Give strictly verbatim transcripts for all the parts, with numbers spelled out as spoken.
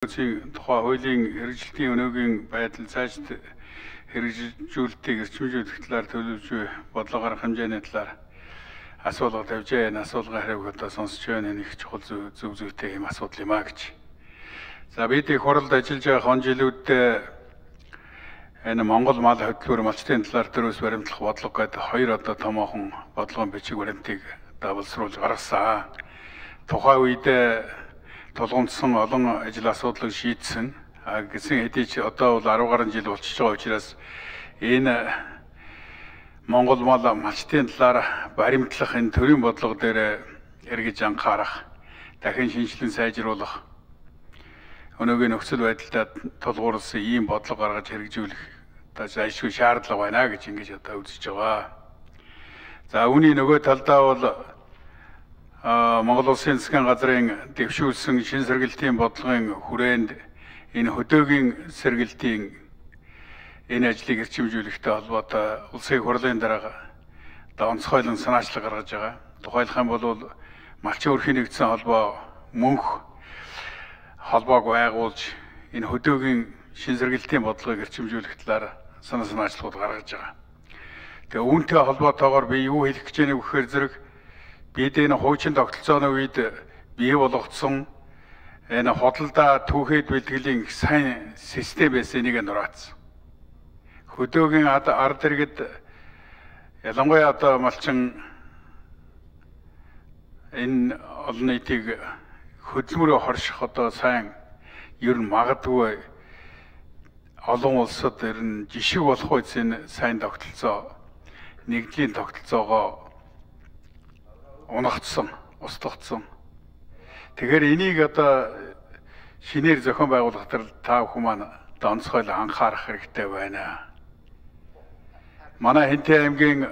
тухай хуулийн хэрэгжилтийн өнөөгийн байдал цаашд хэрэгжүүлэлтийг эрчимжүүлэх талаар төлөвлөж бодлого гаргах хэмжээний талаар асуулга тавьж байна. Асуулгын хариуг одоо сонсч байна. Нэг чухал зөв зүйтэй юм асуудал юм а гэж. За бид их хуралд ажиллаж байгаа хон жилүүдэд энэ Монгол мал хөдөлгөөр малчтын талаар төрөөс баримтлах бодлого гэдэг хоёр одоо томоохон бодлогын бичиг баримтыг давалсруулж гаргасан. Тухайн үед тулгуунцсан олон ажил асуудлыг шийдсэн. А гэсэн хэдий ч одоо бол арван гаруй жил болчихж байгаа учраас энэ Монгол мал малчтын талаар баримтлах энэ төрийн бодлого дээр эргэж анхаарах, дахин шинжилэн сайжруулах, өнөөгийн нөхцөл байдалд тулгуурласан ийм бодлого гаргаж хэрэгжүүлэх зайлшгүй шаардлага байна гэж ингэж одоо үзэж байгаа. За үүний нөгөө талдаа бол Монгол Улсын засгийн газрын дэвшүүлсэн шин сэргэлтийн бодлогын хүрээнд энэ хөдөөгийн сэргэлтийн энэ ажлыг эрчимжүүлэхтэй холбоотой улсын хурлын дарга онцгойлон санаачлаг гаргаж байгаа. Тухайлах юм бол малчин өрхийн нэгдсэн холбоо мөнх холбоог байгуулж энэ хөдөөгийн шин сэргэлтийн бодлогыг эрчимжүүлэх талаар санаа санаачлагууд гаргаж байгаа. Тэгээ үүнтэй холбоотойгоор би юу хэлэх гэж байна вэ гэхээр зэрэг бид энэ хуучин тогтолцооны үед бий болгоцсон энэ хөдөлთა түүхэд бэлтгэлийн сайн систем байсан нэг нураацсан. Хөдөөгийн ард иргэд ялангуяа одоо малчин энэ олон нийтийг хөдөлмөрөөр хорших одоо сайн ер нь магадгүй олон улсад ер нь жишг болох үс энэ сайн тогтолцоо нэгдлийн тогтолцоогоо унагдсан, устгагдсан. Тэгэхээр энийг одоо шинээр зохион байгуулах төр та бүхэн маань онцгойлон анхаарах хэрэгтэй байна. Манай Хэнтэй аймгийн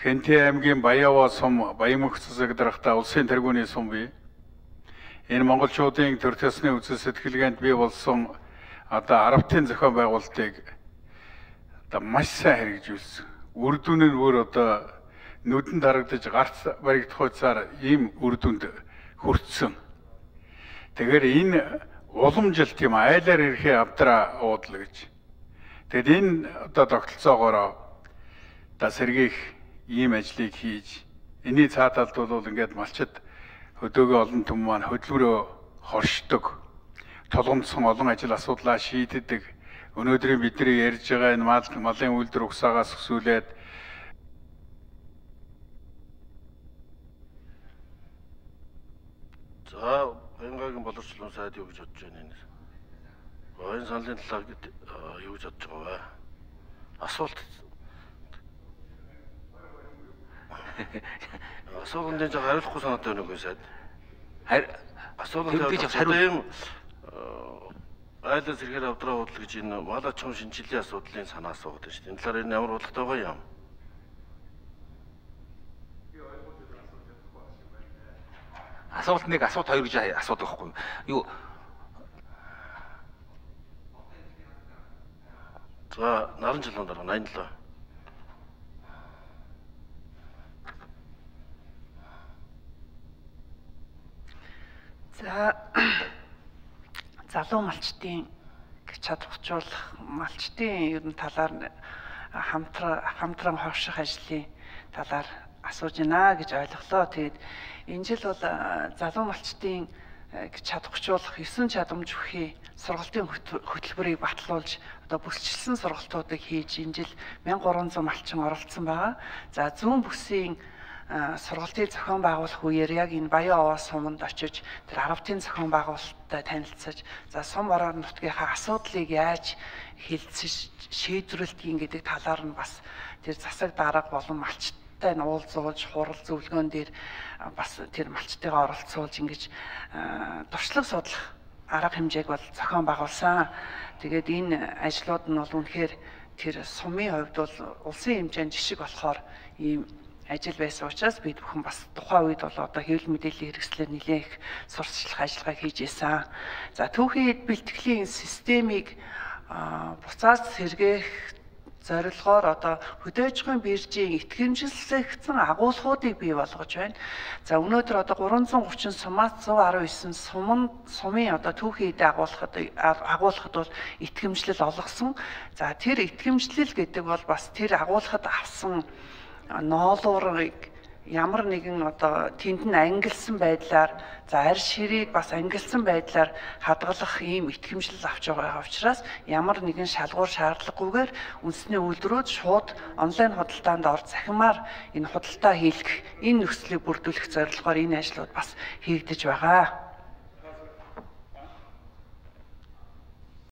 Хэнтэй аймгийн Баяава сум, Баямөнх засаг дарагта улсын тэргүүний сум бий. Энэ монголчуудын төр төсний үзэл сэтгэлгээнд бий болсон одоо арвтын зохион байгуулалтыг одоо маш сайн хэрэгжүүлсэн. Үр дүн нь өөр одоо нүдэнд харагдаж гарц баригдах хуйцаар ийм үр дүнд хүртсэн. Тэгэхээр энэ уламжилт юм айлаар ирэхээ авдраа уудлаа гэж. Тэгэд энэ одоо тогтолцоогоор одоо сэргийх ийм ажлыг хийж энэний цаа талд бол ингээд малчид хөдөөгөө олон түмэн маань хөдөлмөрөө хоршдог, тулгамдсан олон ажил асуудлаа шийддэг. Өнөөдрийн бидний ярьж байгаа энэ мал малын үйлдвэр угсаагаас өсвөлээд за Баянгагийн боловсролын сайд юу гэж бодож байна энэ? Баян саналын талаар юу гэж бодож байгаа вэ? Асуулт асуултанд жоо хариулахгүй санаатай байна уу сайд? Харин асуултанд хариулт айлс ирэхээр авдраа уудлаа гэж энэ мал аж ахуйн шинжилгээ асуудлын санаа асуугаад байна шүү дээ. Энэ талаар энэ ямар бодлоготой байгаа юм? Асуулт нэг, асуулт хоёр гэж асуудаг байхгүй юу? За, наран жилийн дараа найман лөө. За залуу малчтын чадварчуулах, малчтын ер нь талаар хамтран хамтран хогших ажлын талаар асууж байна гэж ойлголоо. Тэгээд энэ жил бол залуу малчтын чадварчуулах есөн чадамж бүхий сургалтын хөтөлбөрийг батлуулж одоо бүсчилсэн сургалтуудыг хийж энэ жил мянга гурван зуун малчин оролцсон байгаа. За зүүн бүсийн сургалтыг зохион байгуулах үеэр яг энэ Баян овоо суманд очиж тэр арвтын зохион байгуулалттай танилцсаж за сум ороор нутгийнхаа асуудлыг яаж хэлцэж шийдвэрлэдгийг гэдэг талаар нь бас тэр засаг дарга болон малчтай нь уулзуулж хурал зөвлөгөөн дээр бас тэр малчтайгаа оролцуулж ингэж туршлага судлах арга хэмжээг бол зохион байгуулсан. Тэгээд энэ ажлууд нь бол үнэхээр тэр сумын хувьд бол улсын хэмжээнд жишг болохоор ийм ажил байсан учраас бид бүхэн бас тухайн үед бол одоо хэвлэл мэдээллийн хэрэгслээр нэлээх сурталчлах ажиллагаа хийж ийсэн. За түүхий бэлтгэлийн системийг буцаад сэргээх зорилгоор одоо хөдөөжмийн биржийн итгэмжлэгдсэн агуулгуудыг бий болгож байна. За өнөөдөр одоо гурван зуун гучин сумаас зуун арван девять сумын сумын одоо түүхийн эдэ агуулгад агуулгад бол итгэмжлэл олгосон. За тэр итгэмжлэл гэдэг бол бас тэр агуулгад авсан ноолуурыг ямар нэгэн одоо тэнд нь ангилсан байдлаар за арь ширийг бас ангилсан байдлаар хадгалах ийм итгэмжлэл авч байгаа учраас ямар нэгэн шалгуур шаардлагагүйгээр үндэсний үйлдвэрүүд шууд онлайн худалдаанд орж захимаар энэ худалдаа хийх энэ нөхцөлийг бүрдүүлэх зорилгоор энэ ажлууд бас хийгдэж байгаа.